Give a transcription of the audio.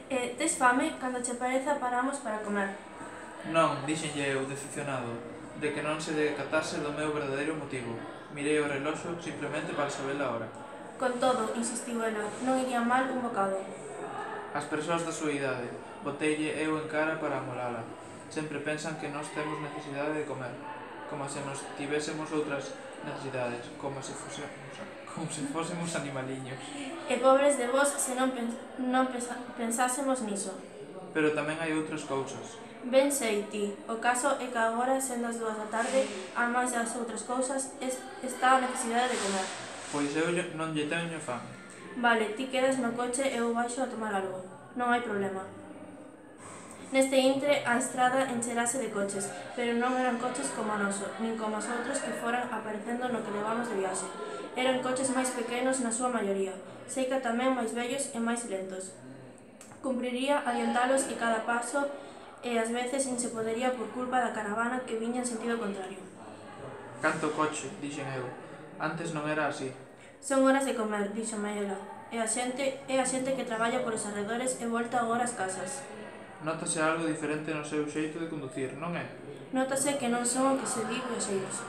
Tes fame? Cando che pareza paramos para comer. Non, díxenlle eu, decepcionado, de que non se decatase do meu verdadeiro motivo. Mirei o reloxo simplemente para saber a hora. Con todo, insistiu ela, non iría mal un bocado. As persoas da súa idade, boteille eu en cara para amolala. Sempre pensan que nós temos necesidade de comer, como se nos tivésemos outras necesidades, como se fósemos animaliños. E pobres de vos se non pensásemos niso. Pero tamén hai outras cousas. Ben sei ti, o caso é que agora, sendo as 2 da tarde, a máis das outras cousas, está a necesidade de comer. Pois eu non lle teño fame. Vale, ti quedas no coche e eu baixo a tomar algo. Non hai problema. Neste intre, a estrada encherase de coches, pero non eran coches como o noso, nin como os outros que foran aparecendo no que levamos de viaxe. Eran coches máis pequenos na súa maioría, sei que tamén máis vellos e máis lentos. Cumpriría adiantalos e cada paso e ás veces nin se podería por culpa da caravana que viña en sentido contrario. Canto coche, dixen eu. Antes non era así. Son horas de comer, díxome ela. É a xente que traballa polos arredores e volta agora ás casas. Nótase algo diferente no seu xeito de conducir, non é? Nótase que non son o que se di viaxeiros.